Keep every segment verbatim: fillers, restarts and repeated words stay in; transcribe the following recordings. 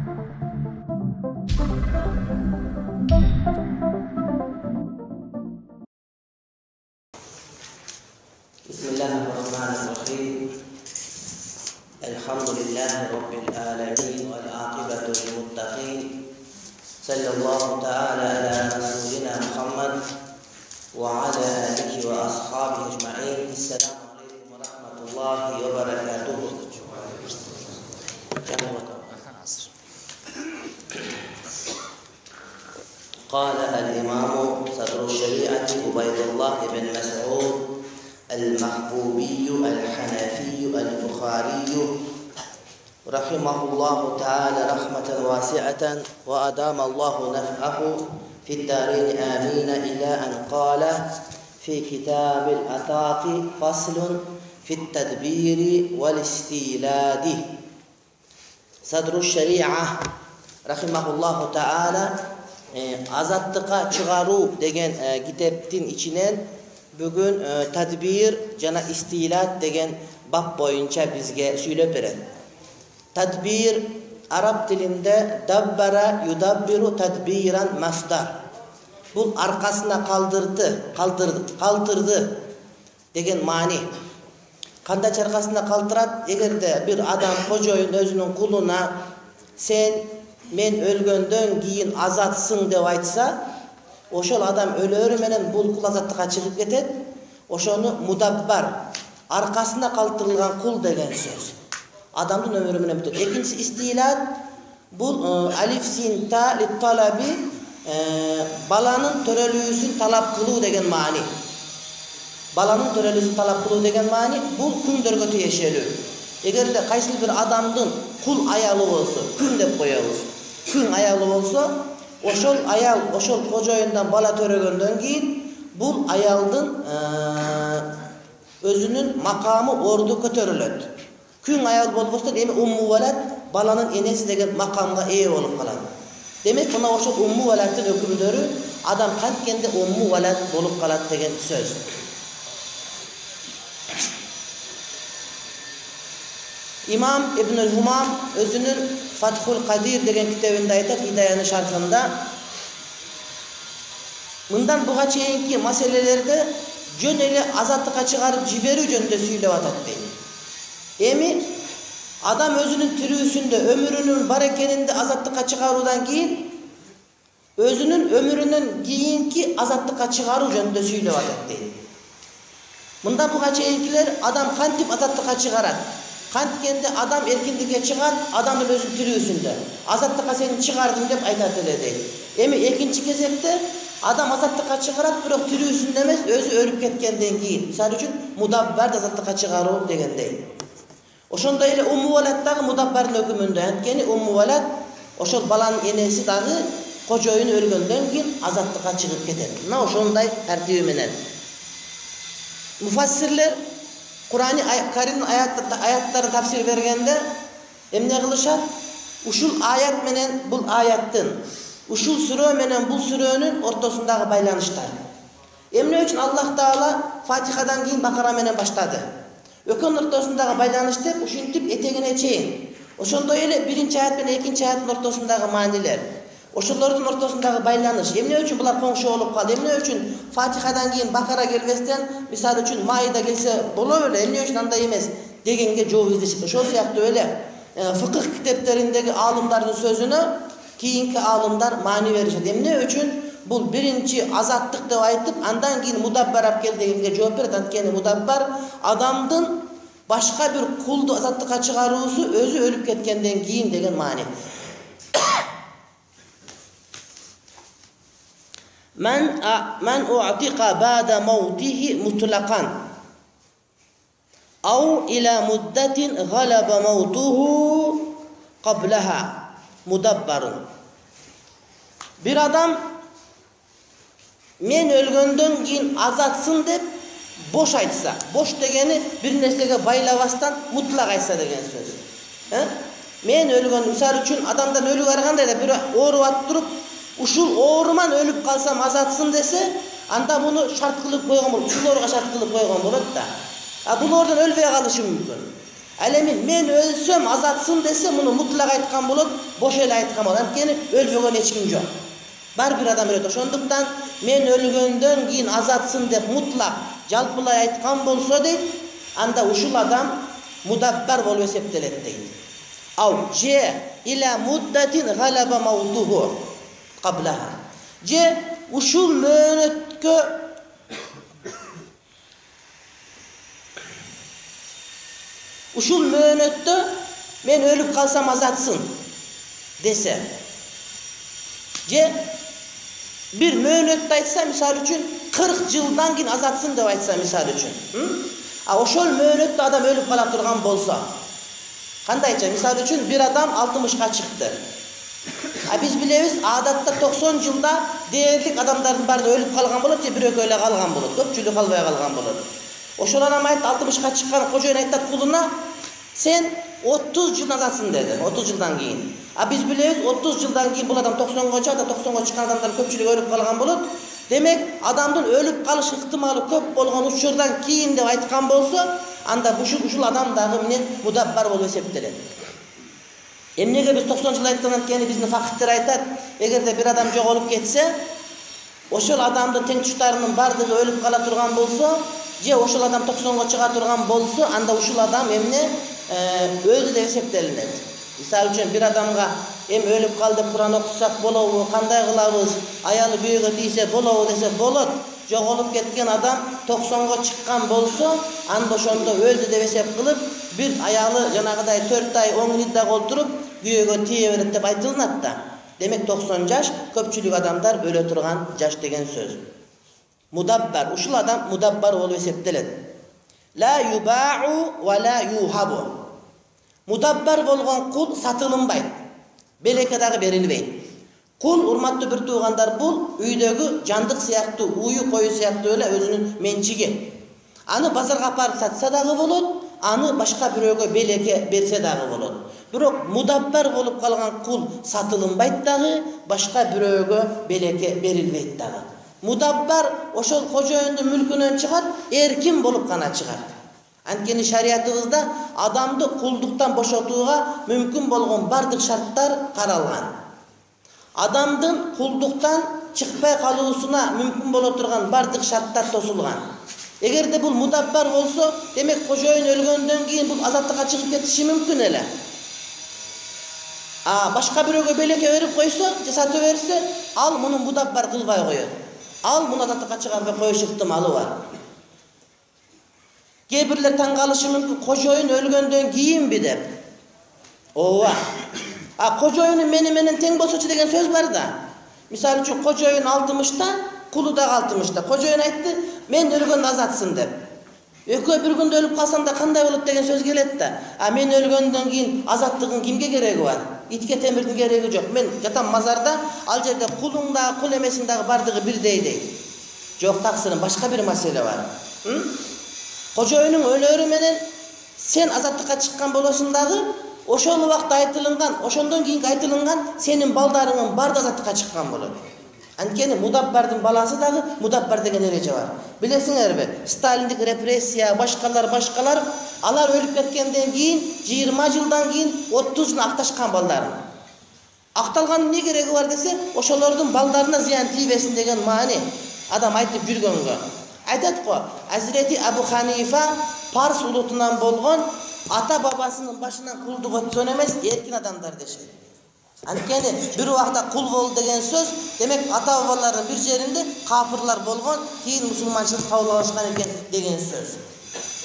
Bismillahirrahmanirrahim. Elhamdülillahi Rabbil alemin vel akibatu lil muttaqin. Sallallahu ta'ala ala rasulina Muhammad ve ala alihi ve ashabihi ecma'in. Esselamu aleyküm ve rahmetullahi ve berekatuhu. قال الإمام صدر الشريعة عبيد الله بن مسعود المحبوبي الحنفي البخاري رحمه الله تعالى رحمة واسعة وأدام الله نفعه في الدارين آمين إلى أن قال في كتاب الأطاق فصل في التدبير والاستيلاد. صدر الشريعة رحمه الله تعالى azatlığa çıgaru degen e, kitaptin içinen bugün e, tadbir jana istilat degen bab boyunca bizge söylep beren. Tadbir Arap dilinde dabbara yudabbiru tadbiran masdar. Bu arkasına kaldırdı, kaldırdı, kaldırdı degen mani. Kandaç arkasına kaldırat, egerde bir adam kojoyun özünün kuluna sen men ölgöndön kiyin azatsın dep aytsa, oşol adam ölörü menen bul kul azatlıkka çıkıp ketet. Oşonu mudabbar, arkasına kaldırılgan kul degen söz. Adamdın ömürü menen bitет. Ekinçisi istilat, bul e, alif sin ta lit talabi e, balanın törelүүsүн talap kılуу degen mani. Balanın törelүүsүn talap kılуу degen mani bul kündөрgө tiyешелүү. Egerde kayсы bir adamdın kul ayalı bolsa, kün dep koyabız. Kün ayalı bolsa, oşol ayal, oşol kojoyundan bala törөгөндөн keyin bul ayaldın e, özünün makamı ordu kötörülöt. Kün ayal bolbostan emi ummu velat balanın enesi degen makamga ee bolup kalat. Demek buna oşol ummu velatın ökümdörü adam kantkende ummu velat bolup kalat degen söz. İmam İbnül Humam özünün Fathul Kadir degen kitabında aytat Hidayanın şarkında mından buga çeyinki meselelerde jön ele azatlıkka çıgarıp jiberүү jönündө süйлөp atat deydi. Emi adam özünün tirүүsүndө ömürünün bar ekeninde azatlıkka çıgarууdan keyin özünün ömürünün kийинки azatlıkka çıgarуу jönündө süylөp atat deydi. Mından buga çeyinkiler adam kантип azatlıkka çıgarat? Kantkende adam erkinlikке çıgar, adamın özün tirүүsүndө. Azatlıkka seni çıgardım dep aytat ele deydi. Emi ekinci кезекте adam azatlıkka çıgarat, bирок tirүүsүндө эмес, özü ölüp ketkенден keyin. Misal үчүн mudabbar azatlıkka çıgarуу degендей. Ошондой эле умmu velat дагы mudabbarдын өкүмүндө. Анткени умmu velat ошол баланын энеси дагы кожоюн өлгөндөн кийин azatlıkка чыгып кетет. Мына ошондой тартиби менен. Mufassirler Kur'an-ı Kerim'in ayatları tafsir bergende emne kılışat? Uşul ayat menen bul ayattın, uşul sürö menen bul sürönün ortasındaki baylanışlar. Emne üçün Allah Teala Fatiha'dan keyin Bakara menen başladı. Ökün ortasındaki baylanış dep uşintip etegine çeyin. Oşondoy ele birinci ayat menen ekinci ayatın ortasındaki maniler. Oşolordun ortasındaki baylanış. Emne üçün bular koңшу olup kaldı. Emne üçün Fatiha'dan keyin Bakara gelbesden, misal üçün Maida gelse bolo öyle. Emne üçün anda emez degenge жооп издешет. Ошол сыяктуу öyle e, fıkıh kitaplarındaki alımların sözünü kийинки alımlar mani verişet. Emne üçün bul birinci azatlık dep aytıp andan keyin mudabbar ap kел degenge жооп берет. Antkeni mudabbar adamdın başka bir kuldu azatlıkka çıgaruusu özü ölüp ketkenden keyin degen mani. Men men u'tika ba'da mawtihi mutlaqan aw ila muddatin ghalaba mawtuhu qablaha mudabbarun. Bir adam men ölgöndön keyin azatsın dep boş aytsa, boş degeni bir nersege baylabastan mutlak aytsa degen söz. He? Men ölgön misal üçün adamdan ölü barganda da bir oorup attırup uşul ooruman ölüp kalsam azatsın dese, anda bunu şart kılıp koygan bolot, uşul ooruga şart kılıp koygan bolot da. A bul oradan ölbey kalışı mümkün. Ал эми мен өлсөм азатсın десе, муну мутлак айткан болот, бош эле айткан болот. Анткени өлбөгөн эч ким жок. Бар бир адам өлөт. Ошондуктан мен өлгөндөн кийин азатсın деп мутлак жалпылай айткан болсо дейт, анда ушул адам мудаббар болуп эсептелет дейт. Ау же иля муддатин галаба маутуху каблаха. Же ушул мөөнөткө ушул мөөнөттө мен өлүп калсам азатсın десе. Же бир мөөнөттү айтса, мисалы үчүн кырк жылдан кийин азатсın деп айтса, мисалы үчүн. А ошол мөөнөттө адам өлүп кала турган болсо, кандайча? Мисалы үчүн бир адам алтымышка чыкты. А биз билебиз, адатта токсон жылда дээрлик адамдардын баары өлүп калган болот, же бирөө эле калган болот, көпчүлүк калбай калган болот. Ошол адам айтты, алтымышка чыккан кожоюн айтат кулуна, сен отуз жыл азатсın деди, отуз жылдан кийин. А биз билебиз, отуз жылдан кийин бул адам токсонго чыкат, токсонго чыккан адамдар көпчүлүгү өлүп калган болот. Демек, адамдын өлүп калыш ыктымалы көп болгон учурдан кийин деп айткан болсо, анда ушул ушул адам дагы менен мудаббар болуп эсептелет. Эмнеге биз токсон жыл айткан анткени биздин факыттар айтат, эгерде бир адам жоголуп кетсе, ошол адамдын тең туштарынын бардыгы өлүп кала турган болсо, же ошол адам токсонго чыга турган болсо, анда ушул адам эмне өлдү деп эсептелинет. Мисалы үчүн бир адамга эми өлүп кал деп Куран окутсак болобу, кандай кылабыз, аялы күйөөгө тийсе болобу десе болот. Жоголуп кеткен адам токсонго чыккан болсо, анда ошондо өлдү деп эсеп кылып, бир аялы жанагыдай төрт ай он иддага олтуруп, күйөөгө тие берет деп айтылынат да. Демек токсон жаш көпчүлүк адамдар өлө турган жаш деген сөз. Мудаббар, ушул адам мудаббар болуп эсептелет. Ла юбау ва ла юхабу. Мудаббар болгон кул сатылынбайт. Белекке дагы берилбейт. Кул, урматтуу бир туугандар, бул үйдөгү жандык сыяктуу, уюу кою сыяктуу эле өзүнүн менчиги. Аны базарга апарып сатса дагы болот, аны башка бирөөгө белекке берсе дагы болот. Бирок мудаббар болуп калган кул сатылынбайт дагы, башка бирөөгө белекке берилбейт дагы. Мудаббар ошол кожоюндун мүлкүнөн чыгат, эркин болуп гана чыгат. Анткени шариятыбызда адамды кулдуктан бошотууга мүмкүн болгон бардык шарттар каралган. Адамдын кулдуктан чыкпай калуусуна мүмкүн боло турган бардык шарттар тосулган. Эгерде бул мудаббар болсо, демек кожоюн өлгөндөн кийин бул азаттыкка чыгып кетиши мүмкүн эле. А башка бирөөгө белекке берип койсо, же сатып берсе, ал муну мудаббар кылбай коет. Ал муну азаттыкка чыгарбай коюш ыктымалы бар. Кээ бирлер таң калышы мүмкүн, кожоюн өлгөндөн кийинби деп. Ооба. А кожоюну мени менен тең болсочу деген сөз бар да. Мисалы үчүн кожоюн алтымышта, кулу дагы алтымышта. Кожоюн айтты, мен өлгөндө азатсın деп. Экөө бир күндө өлүп калсам да кандай болот деген сөз келет да. А мен өлгөндөн кийин азаттыгын кимге кереги бар? Итке темирдин кереги жок. Мен жатам мазарда, ал жерде кулуң дагы, кул эмесиң дагы бардыгы бирдей дейт. Жок, таксырын башка бир маселе бар. Кожоюнуң өлөрү менен сен азаттыкка чыккан болосуң дагы, ошол убакта айтылынган, ошондон кийинки айтылынган сенин балдарыңын бардыгы азаттыкка чыккан болот. Анткени мудаббардын баласы дагы мудаббар деген эреже бар. Билесиңерби, Сталиндик репрессия, башкалар, башкалар, алар өлүп кеткенден кийин жыйырма жылдан кийин отуз жыл акташкан балдарын. Акталганын эмне кереги бар десе, ошолордун балдарына зыян тийбесин деген маани адам айтып жүргөнгө. Айтат го, Азирети Абу Ханифа Парс улутунан болгон ата бабасынын башынан кулдук өткөн эмес, эркин адамдар дешет. Анткени бир убакта кул болду деген сөз, демек ата бабалардын бир жеринде кафырлар болгон, кийин мусулманчылык кабыл алышкан экен деген сөз.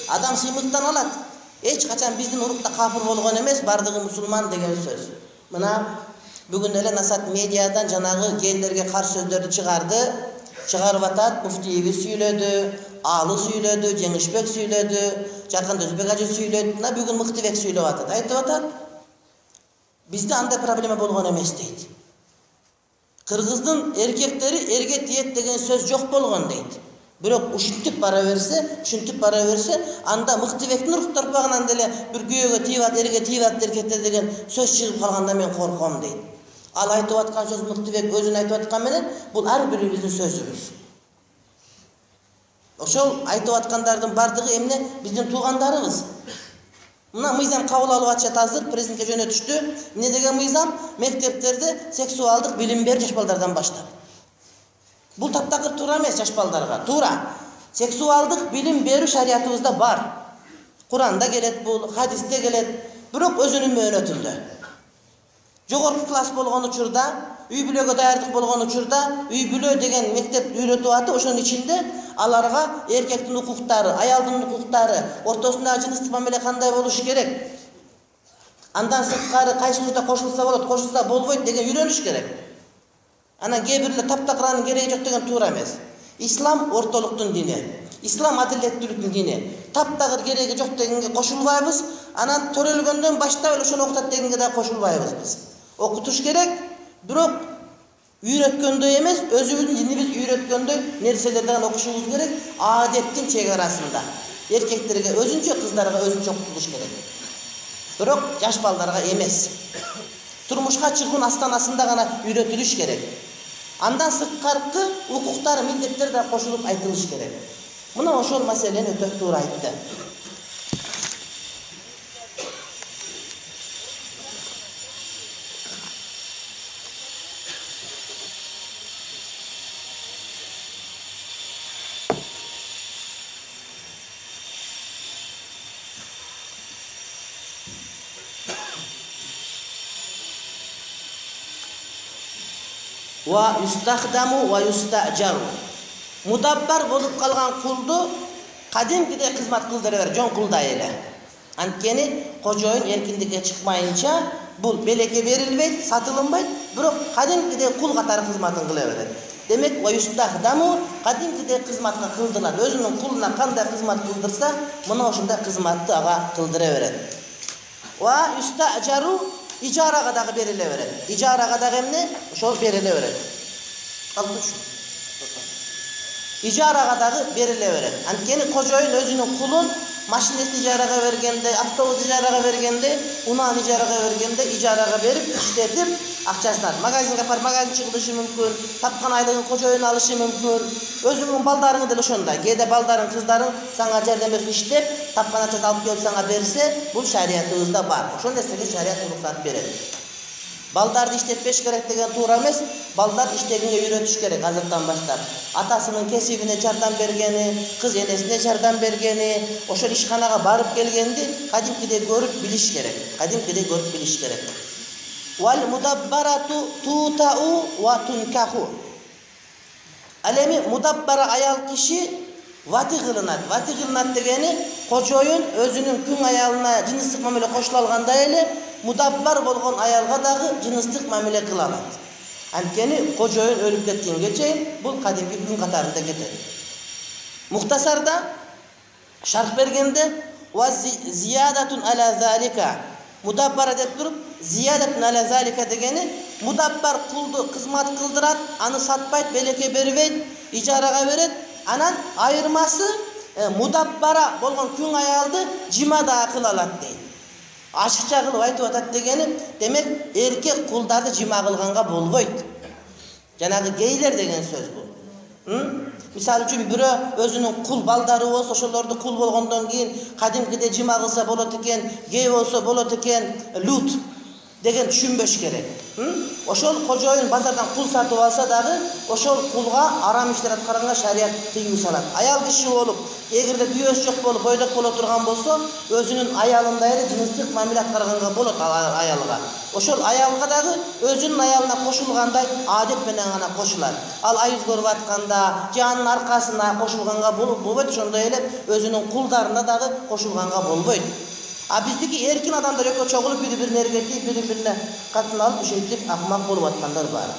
Адам сыймыктан алат. Эч качан биздин урукта кафыр болгон эмес, бардыгы мусулман деген сөз. Мына бүгүн эле Насат медиадан жанагы гейлерге каршы сөздөрдү чыгарды. Чыгарып атат, муфтийибиз сүйлөдү, Алы сүйлөдү, Жеңишбек сүйлөдү, Жаркан Өзбек ажы сүйлөдү, мына бүгүн Мыктыбек сүйлөп атат. Айтып атат, бизде андай проблема болгон эмес дейт. Кыргыздын эркектери эрге тиет деген сөз жок болгон дейт. Бирок ушинтип бара берсе, ушинтип бара берсе, анда Мыктыбектин урук торпагынан деле бир күйөөгө тийбат, эрге тийбат эркектер деген сөз чыгып калганда мен корком дейт. Ал айтып аткан сөз Мыктыбек өзүн айтып аткан менен, бул ар бирибиздин сөзүбүз. Ошол айтып аткандардын бардыгы эмне? Биздин туугандарыбыз. Мына мыйзам кабыл алып атышат азыр, президентке жөнөтүштү. Эмне деген мыйзам? Мектептерде сексуалдык билим берүү жаш балдардан баштап. Бул таптакыр туура эмес жаш балдарга. Туура. Сексуалдык билим берүү шариятыбызда бар. Куранда келет бул, хадисте келет, бирок өзүнүн мөөнөтүндө. Жогорку класс болгон учурда, үй бүлөгө даярдык болгон учурда, үй бүлө деген мектеп үйрөтүп атып, ошонун ичинде аларга эркектин укуктары, аялдын укуктары, ортосундагы жыныстык мамиле кандай болуш керек, андан сырткары кайсы учурда кошулса болот, кошулса болбойт деген үйрөнүш керек. Анан кээ бирлер таптакыранын кереги жок деген туура эмес. Ислам ортолуктун дини. Ислам адилеттүүлүктүн дини. Таптакыр кереги жок дегенге кошулбайбыз, анан төрөлгөндөн баштап эле ошону окутат дегенге да кошулбайбыз биз. Окутуш керек, бирок үйрөткөндөй эмес, өзүбүздүн динибиз үйрөткөндөй нерселерден окушубуз керек, адеттин чегарасында. Эркектерге өзүнчө, кыздарга өзүнчө окутулуш керек. Бирок жаш балдарга эмес. Турмушка чыгуунун астанасында гана үйрөтүлүш керек. Андан сырткаркы укуктар, милдеттер да кошулуп айтылыш керек. Мына ошол маселени өтө туура айтты. Wa yustахдаму wa yusta'jaru. Мудаббар болуп калган кулду кадимкидей кызмат кылдыра бер, жон кулдай эле. Анткени кожоюн эркиндикке чыкмайынча бул белекке берилбейт, сатылынбайт, бирок кадимкидей кул катары кызматын кыла берет. Демек, wa yustахдаму кадимкидей кызматка кылдырылат. Өзүнүн кулуна кандай кызмат кылдырса, мына ошондой кызматты ага кылдыра берет. Wa yusta'jaru ижарага дагы бериле берет. Ижарага дагы эмне? Ошол бериле берет. Калдыш. Ижарага дагы бериле берет. Анткени кожоюн өзүнүн кулун машинесин ижарага бергенде, автобус ижарага бергенде, унааны ижарага бергенде, ижарага берип, иштетип, акчасын алат. Магазинге апарып, магазинчи кылышы мүмкүн, тапкан айлыгын кожоюн алышы мүмкүн. Өзүңүн балдарың деле ошондой. Кээде балдарың, кыздарың сага жардам берип иштеп, тапкан акчасын алып келип сага берсе, бул шариятыбызда бар. Ошол нерсеге шарият уруксат берет. Балдарды иштетпеш керек деген туура эмес, балдар иштегенге үйрөтүш керек азыртан баштап. Атасынын кесибине жардам бергени, кыз энесине жардам бергени, ошол ишканага барып келгенди кадимкидей көрүп билиш керек. Кадимкидей көрүп билиш керек. Wal mudabbaratu tuta'u wa tunkahу. Ал эми мудаббара аял киши вати кылынат. Вати кылынат дегени кожоюн өзүнүн күң аялына жыныстык мамиле кошула алгандай эле мудаббар болгон аялга дагы жыныстык мамиле кыла алат. Анткени кожоюн өлүп кеткенге чейин бул кадимки күн катарында кетет. Мухтасарда шарх бергенде ва зиядатун аля залика. Мудаббара деп туруп, зиядатун аля залика дегени мудаббар кулду кызмат кылдырат, аны сатпайт, белекке бербейт, ижарага берет. Анан айырмасы мудаббара болгон күң аялды жима да кыла алат дейт. Ашыкча кылып айтып атат дегени, демек эркек кулдарды жима кылганга болбойт. Жанагы гейлер деген сөз бул. Мисалы үчүн бирөө өзүнүн кул балдары болсо, ошолорду кул болгондон кийин кадимкидей жима кылса болот экен, гей болсо болот экен, лут деген түшүнбөш керек. Ошол кожоюн базардан кул сатып алса дагы, ошол кулга арам иштер аткарганга шарият тыюу салат. Аял киши болуп, эгерде күйөөсү жок болуп, бойдок боло турган болсо, өзүнүн аялындай эле жыныстык мамиле аткарганга болот аялга. Ошол аялга дагы өзүнүн аялына кошулгандай адет менен гана кошулат. Ал айыз көрүп атканда, же анын аркасына кошулганга болбойт, ошондой эле өзүнүн кулдарына дагы кошулганга болбойт. А биздики эркин адамдар экөө чогулуп бири-бирине эргетип, бири-бирине катын алып, ушинтип акмак болуп аткандар бар.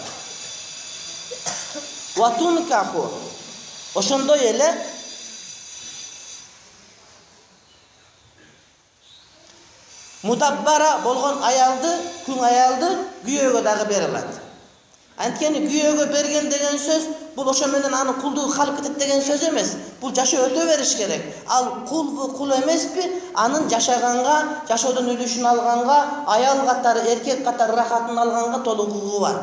Ватункаху. Ошондой эле мудаббара болгон аялды, күң аялды күйөөгө дагы бере алат. Анткени күйөөгө берген деген сөз бул ошо менен аны кулдугу калып кетет деген сөз эмес. Бул жашоо өтө бериш керек. Ал кулбу, кул эмеспи? Анын жашаганга, жашоодон үлүшүн алганга, аял катары, эркек катары рахатын алганга толук укугу бар.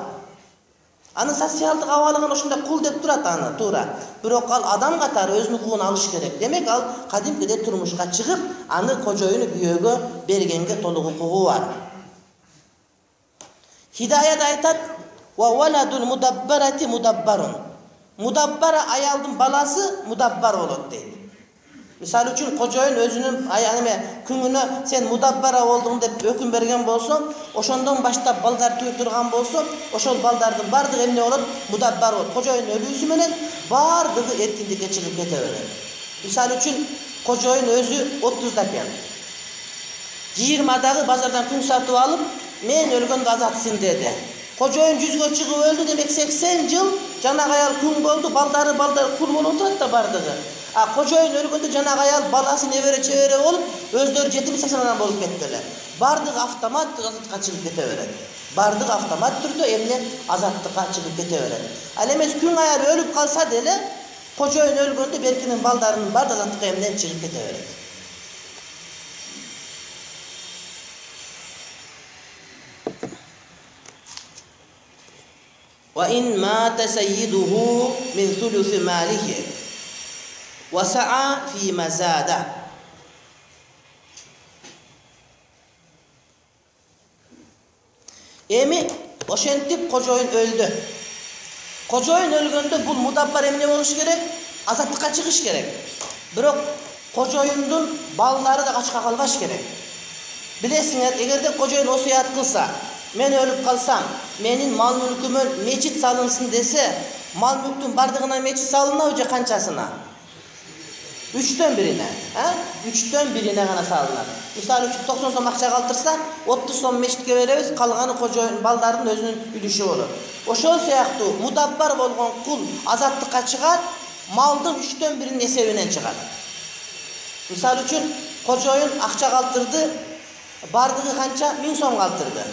Анын социалдык абалыгын ошондой кул деп турат аны, туура. Бирок ал адам катары өзүнүн укугун алыш керек. Демек ал кадимкидей турмушка чыгып, аны кожоюну күйөөгө бергенге толук укугу бар. Хидаяда айтат: "Ва валадул мудаббарати мудаббарун." Мудаббара аялдын баласы мудаббар болот дейт. Мисалы үчүн кожоюн өзүнүн аяныме күнүнө сен мудаббара болдуң деп өкүм берген болсо, ошондон баштап балдар тууй турган болсо, ошол балдардын бардыгы эмне болот? Мудаббар болот. Кожоюн өлүүсү менен бардыгы эркиндикке чыгып кете берет. Мисалы үчүн кожоюн өзү отузда экен. жыйырмадагы базардан күн сатып алып, мен өлгөндө азатсың деди. Кожоюн жүзгө чыгып өлдү, демек сексен жыл жанагы аял күн болду, балдары балдар кул болуп турат да бардыгы. А кожоюн өлгөндө жанагы аял баласы небере чебере болуп, өздөрү жетим сексен адам болуп кетти. Бардыгы автомат азаттыкка чыгып кете берет. Бардыгы автомат түрдө эмне азаттыкка чыгып кете берет. Ал эмес күн аял өлүп калса деле, кожоюн өлгөндө беркинин балдарынын бардыгы азаттыкка эмнен чыгып кете берет. Wa in mata sayyiduhu min thuluthi malihi wa sa'a fi mazada. Эми ошентип кожоюн өлдү. Кожоюн өлгөндө бул мудаббар эмне болуш керек? Азаттыкка чыгыш керек. Бирок кожоюндун балдары да качка калбаш керек. Билесиңер, эгерде кожоюн осуят кылса, мен өлүп калсам, менин мал мүлкүмө мечит салынсын десе, мал мүлктүн бардыгына мечит салынабы же канчасына? Үчтөн бирине, а? Үчтөн бирине гана салынат. Мисалы үчүн токсон сом акча калтырса, отуз сом мечитке беребиз, калганы кожоюн балдардын өзүнүн үлүшү болот. Ошол сыяктуу мудаббар болгон кул азаттыкка чыгат, малдын үчтөн биринин эсебинен чыгат. Мисалы үчүн кожоюн акча калтырды, бардыгы канча? миң сом калтырды.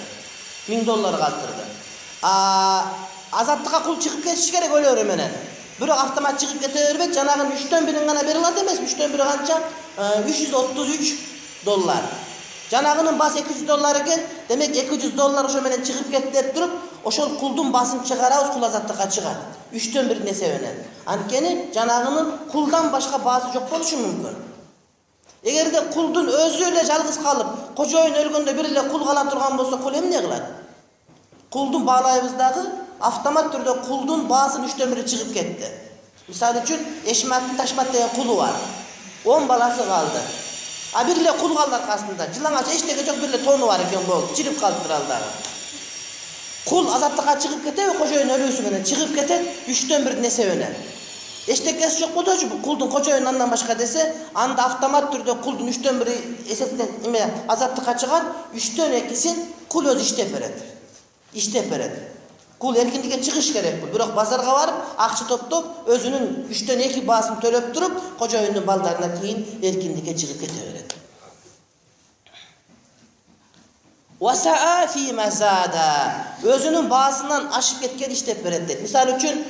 миң доллар калтырды. А азаттыкка кул чыгып кетиш керек өлөрү менен. Бирок автомат чыгып кете бербейт, жанагынын үчтөн бирин гана бере алат эмес, үчтөн бири канча? үч жүз отуз үч доллар. Жанагынын басы эки жүз доллар экен, демек эки жүз доллар ошо менен чыгып кетти деп туруп, ошол кулдун басын чыгарабыз, кул азаттыкка чыгат. үчтөн бирин эсебинен. Анткени жанагынын кулдан башка баасы жок болушу мүмкүн. Эгерде кулдун өзү эле жалгыз калып, кожоюн өлгөндө бир эле кул кала турган болсо, кул эмне кылат? Кулдун баалайбыз дагы, автомат түрдө кулдун баасынын үчтөн бири чыгып кетти. Мисалы үчүн, Эшматтын Ташмат деген кулу бар. он баласы калды. А бир эле кул калды аркасында. Жылаңача эчтеке жок, бир эле тону бар экен болду. Чирип калыптыр ал дагы. Кул азаттыкка чыгып кетеби, кожоюн өлүүсү менен чыгып кетет, үчтөн бирин эсебинен. Эчтекеси жок болсочу, кулдун кожоюн андан башка десе, анда автомат түрдө кулдун үчтөн бири эсептен эме азаттыкка чыгат, үчтөн экисин кул өзү иштеп берет. Иштеп берет. Кул эркиндикке чыгыш керек бул. Бирок базарга барып, акча топтоп, өзүнүн үчтөн эки баасын төлөп туруп, кожоюндун балдарына кийин эркиндикке чыгып кете берет. Васаа фи мазада. Өзүнүн баасынан ашып кеткен иштеп берет дейт. Мисалы үчүн,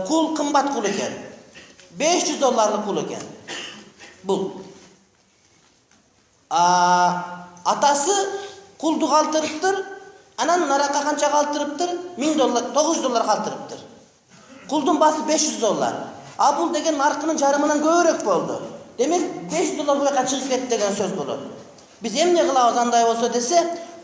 кул кымбат кул экен. беш жүз долларлык кул экен. Бул. А атасы кулду калтырыптыр. Анан наракка канча калтырыптыр? миң доллар, тогуз жүз доллар калтырыптыр. Кулдун баасы беш жүз доллар. А бул деген наркынын жарымынан көбүрөөк болду. Демек беш жүз доллар буяка чыгып кетти деген сөз болот. Биз эмне кылабыз андай болсо десе,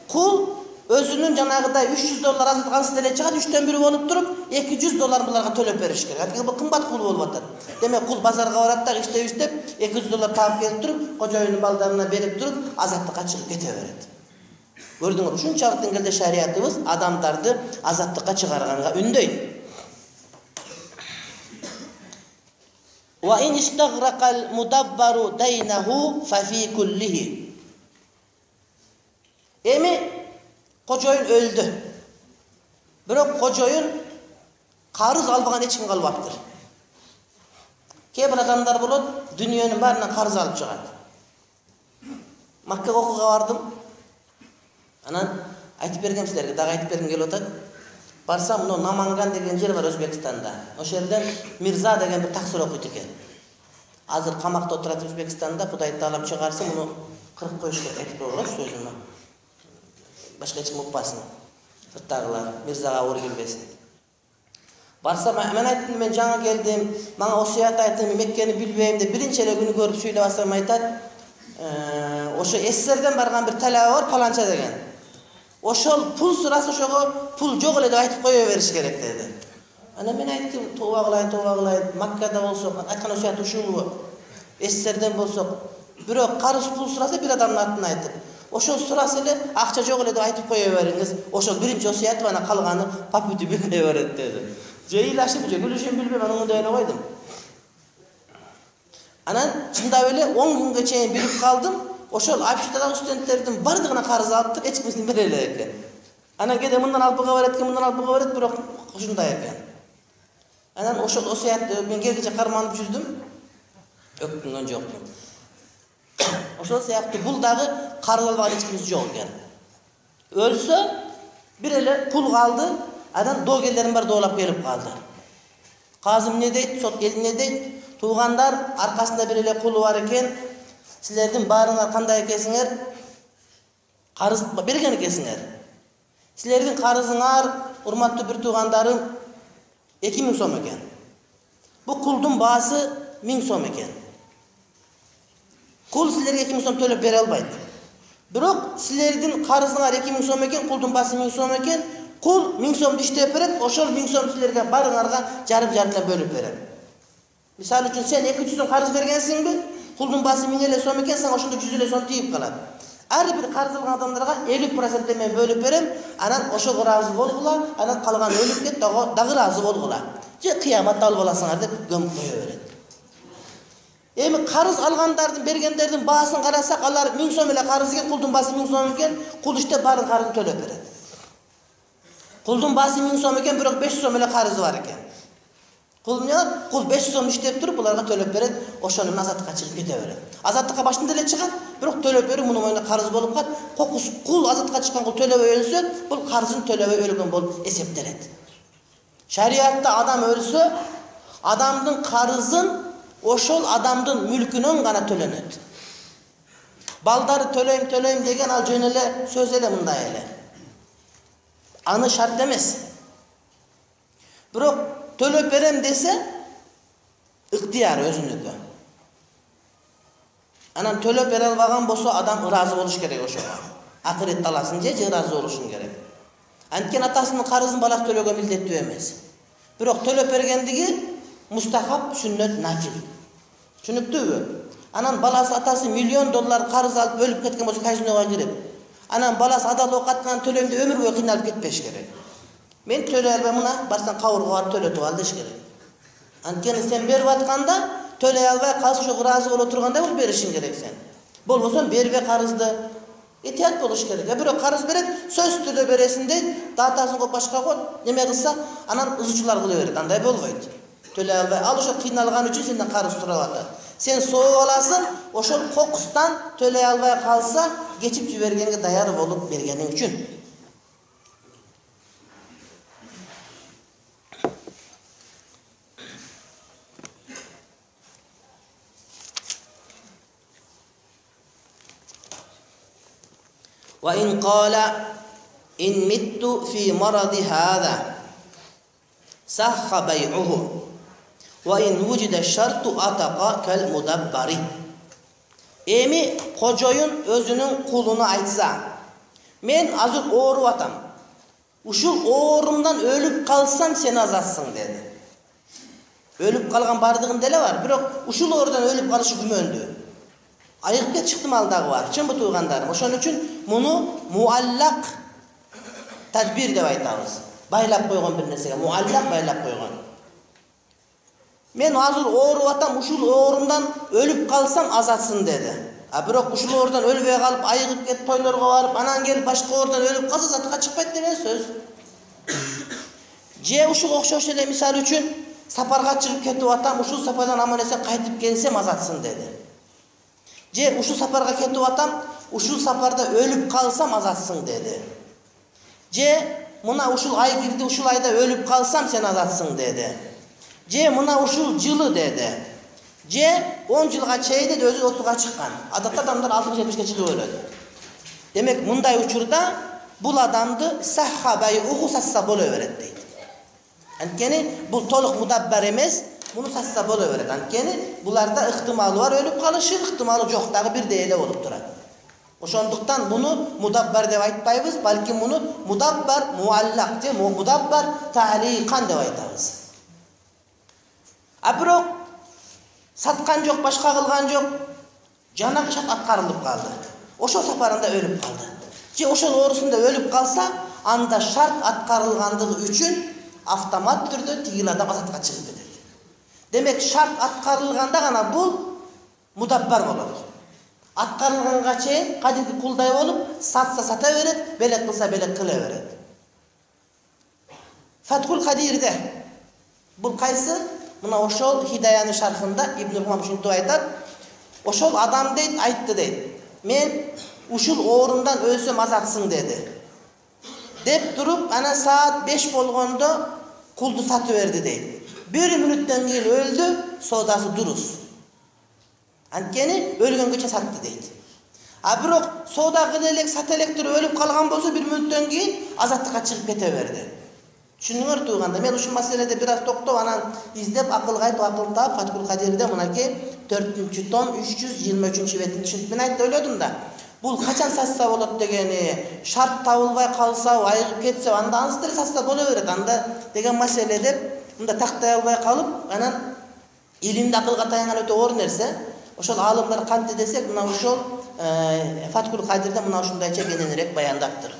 кул өзүнүн жанагыдай үч жүз доллар азаткансыз деле чыгат, үчтөн бири болуп туруп, эки жүз доллар буларга төлөп бериш керек. Анткени бул кымбат кул болуп атат. Демек кул базарга барат да иштеп иштеп эки жүз доллар таап келип туруп, кожоюндун балдарына берип туруп, азаттыкка чыгып кете берет. Көрдүңөр, ушунчалык деңгээлде шариятыбыз адамдарды азаттыкка чыгарганга үндөйт. Wa in istaghraqa al-mudabbaru daynahu fa fi kullihi. Эми кожоюн өлдү. Бирок кожоюн карыз албаган эч ким калбаптыр. Кээ бир адамдар болот, дүйнөнүн баарынан карыз алып чыгат. Маккага окууга бардым. Анан айтып бергем силерге, дагы айтып бергим келип атат. Барсам, мына Наманган деген жер бар Өзбекстанда. Ошол жерден Мирза деген бир таксир окуйт экен. Азыр камакта отурат Өзбекстанда, Кудай таалам чыгарса, муну кырып коюш керек, айтып койгула сөзүмө. Башка эч ким укпасын. Сырттагылар Мирзага оор келбесин. Барса мен айттым, мен жаңа келдим, мага осуят айттым, Меккени билбейм деп биринчи эле күнү көрүп сүйлөп атсам айтат, ошо эсерден барган бир талаба бар паланча деген. Ошол пул сураса ошого пул жок эле деп айтып кое бериш керек деди. Ана мен айттым, тооба кылайын, тооба кылайын, Маккада болсок, айткан осуят ушулбу? Эсерден болсок, бирок карыз пул сураса бир адамдын атын айтып, ошол сураса эле акча жок эле деп айтып кое бериңиз. Ошол биринчи осуят, ана калганы папүтү билбей берет деди. Же ыйлашып, же күлүшүм билбейм, анан оңдой эле койдум. Анан чындап эле он күнгө чейин билип калдым. Ошол общагы студенттердин бардыгына карыз алыптыр, эч кимсин бере эле экен. Анан кээде мындан алып буга берет экен, мындан алып буга берет, бирок ушундай экен. Анан ошол осуятты мен кергиче карманып жүрдүм. Өктүнгөн жокмун. Ошол сыяктуу бул дагы карыз албаган эч кимиз жок экен. Өлсө бир эле пул калды, анан доогерлерим бар доолап келип калды. Казым эмне дейт, сот эл эмне дейт? Туугандар аркасында бир эле кулу бар экен. Силердин баарыңар кандай экенсиңер? Карыз берген экенсиңер. Силердин карызыңар, урматтуу бир туугандарым, эки миң сом экен. Бу кулдун баасы миң сом экен. Кул силерге эки миң сом төлөп бере албайт. Бирок силердин карызыңар эки миң сом экен, кулдун баасы миң сом экен. Кул миң сомду иштеп берет, ошол миң сом силерге барыңарга жарым-жарымдан бөлүп берем. Мисалы үчүн сен эки жүз сом карыз бергенсиңби? Кулдун баасы миң эле сом экен, сен ошондо жүз эле сом тийип калат. Ар бир карыз алган адамдарга элүү процент мен бөлүп берем, анан ошого ыраазы болгула, анан калган өлүп кет, дагы ыраазы болгула. Же кыяматта алып аласыңар деп көмүп кое берет. Эми карыз алгандардын, бергендердин баасын карасак, алар миң сом эле карыз экен, кулдун баасы миң сом экен, кул иштеп баарын карызын төлөп берет. Кулдун баасы миң сом экен, бирок беш жүз сом эле карызы бар экен. Кул эмне кылат? Кул беш жүз сом иштеп туруп, буларга төлөп берет, ошону азаттыкка чыгып кете берет. Азаттыкка башында эле чыгат, бирок төлөп берүү мунун мойнуна карыз болуп калат. Кокус кул азаттыкка чыккан кул төлөбөй өлсө, бул карызын төлөбөй өлгөн болуп эсептелет. Шариатта адам өлсө, адамдын карызын ошол адамдын мүлкүнөн гана төлөнөт. Балдары төлөйм, төлөйм деген ал жөн эле сөз эле мындай эле. Аны шарт эмес. Бирок төлөп берем десе, ыктыяр өзүнүкү. Анан төлөп бере албаган болсо, адам ыраазы болуш керек ошого. Акырет таласын же ыраазы болушун керек. Анткени атасынын карызын баласы төлөгө милдеттүү эмес. Бирок төлөп бергендиги мустахаб, сүннөт, нафил. Түшүнүктүүбү? Анан баласы атасы миллион доллар карыз алып өлүп кеткен болсо казинога кирип, анан баласы адал окаткан төлөйм деп өмүр бою кыйналып кетпеш керек. Мен төлөй албайм, мына барсаң кабырга барып төлөтүп ал деш керек. Анткени сен берип атканда төлөй албай калса ошо ыраазы боло тургандай болуп беришиң керек сен. Болбосо бербе карызды. Этият болуш керек. Бирок карыз берет, сөз түрдө бересиң дейт, датасын коюп башка коет, неме кылса, анан ызычуулар кыла берет. Андай болбойт. Төлөй албай, ал ошо кыйналган үчүн сенден карыз сурап атат. Сен соо аласың, ошол кокустан төлөй албай калса, кечип жибергенге даяр болуп бергениң үчүн. وإن قال إن مت في مرض هذا صح بيعه وإن وجد الشرط أتق كالمدبر. Эми кожоюн өзүнүн кулуна айтса, мен азыр ооруп атам. Ушул оорумдан өлүп калсам сен азатсың деди. Өлүп калган бардыгында эле бар, бирок ушул оорудан өлүп калышы күмөндүү. Айыгып кет чыктым дагы бар. Чынбы туугандарым? Ошон үчүн муну муаллак тадбир деп айтабыз. Байлап койгон бир нерсеге муаллак байлап койгон. Мен азыр ооруп атам, ушул оорумдан өлүп калсам азатсын деди. А бирок ушул оорудан өлбөй калып, айыгып кетип тойлорго барып, анан келип башка оорудан өлүп калса азаттыкка чыкпайт деген сөз. Же ушуга окшош эле мисал үчүн сапарга чыгып кетип атам, ушул сапардан аман эсен кайтып келсем азатсын деди. Же ушул сапарга кетип атам, ушул сапарда өлүп калсам азатсың деди. Же мына ушул ай кирди, ушул айда өлүп калсам сен азатсың деди. Же мына ушул жылы деди. Же он жылга чейин деди, өзү отузга чыккан. Адатта адамдар алтымыш жетимишке чыгып өлөт. Демек мындай учурда бул адамды сахабай уху сасса боло берет дейт. Анткени бул толук мудаббар эмес, муну сатса боло берет. Анткени буларда ыктымалы бар өлүп калышы, ыктымалы жок дагы бирдей эле болуп турат. Ошондуктан буну мудаббар деп айтпайбыз, балки муну мудаббар муаллак же мудаббар тааликан деп айтабыз. А бирок саткан жок, башка кылган жок, жанагы шарт аткарылып калды. Ошол сапарында өлүп калды. Же ошол оорусунда өлүп калса, анда шарт аткарылгандыгы үчүн автомат түрдө тигил адам азатка чыгып кетет. Демек шарт аткарылганда гана бул мудаббар болот. Аткарылганга чейин кадимки кулдай болуп, сатса сата берет, белек кылса белек кыла берет. Фатхул Кадирде бул кайсы? Мына ошол Хидаянын шархында Ибн Румам ушинтип айтат. Ошол адам дейт, айтты дейт. Мен ушул оорундан өлсөм азатсың деди. Деп туруп, анан саат беш болгондо кулду сатып берди дейт. Bir мүнөттөн кийин өлдү, соодасы дурус. Анткени өлгөнгөчө сатты дейт. А бирок соода кыла элек, сата элек туруп өлүп калган болсо bir мүнөттөн кийин азаттыкка чыгып кете берди. Түшүнүңөр туганда, мен ушул маселеде бир аз токтоп, анан издеп акылга айтып, акыл таап, Фатхул Кадирде мынакей төртүнчү том үч жүз жыйырма үчүнчү бетин түшүнүп мен айтып ойлодум да. Бул качан сатса болот дегени, шарт табылбай калса, айыгып кетсе, анда ансы деле сатса боло берет. Анда деген маселе деп мында тактай албай калып, анан илимди акылга таянган өтө оор нерсе. Ошол алымдар кантип десек, мына ошол Фатхул Кадирде мына ушундайча кененирээк баяндаптыр.